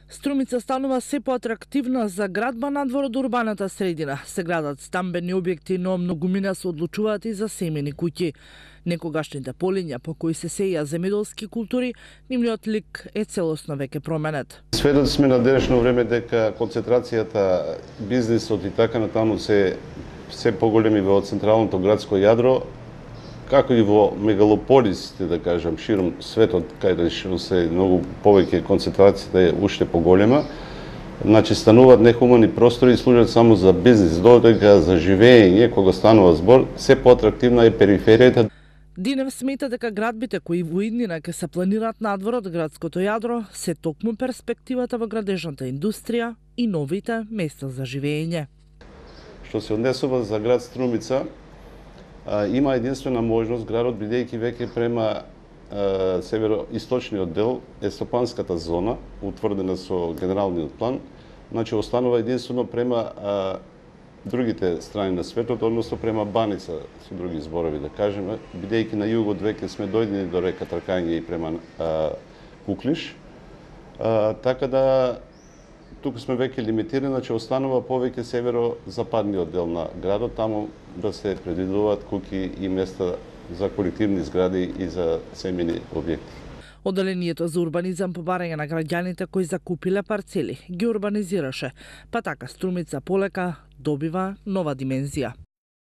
Струмица станува се поатрактивна за градба надвор од урбаната средина. Се градат стамбени објекти, но многумина се одлучуваат и за семени куќи. Некогашните полиња по кои се сеја земјоделски култури, нивниот лик е целосно веќе променет. Сведоци сме на денешно време дека концентрацијата, бизнисот и така натаму се поголеми во централното градско јадро, како и во мегалополисите, да кажам, широм светот, каде се многу повеќе концентрацијата е уште поголема. Значи, стануваат нехумани простори и служат само за бизнис, додека за живење, кога станува збор, се поатрактивна е периферијата. Динев смета дека градбите кои во иднина ќе се планираат надвор од градското јадро се токму перспективата во градежната индустрија и новите места за живење. Што се однесува за град Струмица, има единствена можност градот, бидејќи веќе према североисточниот дел е стопанската зона, утврдена со генералниот план, значи останува единствено према другите страни на светот, односно према Баница, со други зборови да кажеме, бидејќи на југот веќе сме дојдени до река Тркање и према Куклиш, така да туку сме веќе лимитирани, значи останува повеќе северо-западниот дел на градот, таму да се предвидуваат куќи и места за колективни згради и за семени објекти. Одделението за урбанизам по барање на граѓаните кои закупиле парцели ги урбанизираше, па така Струмица полека добива нова димензија.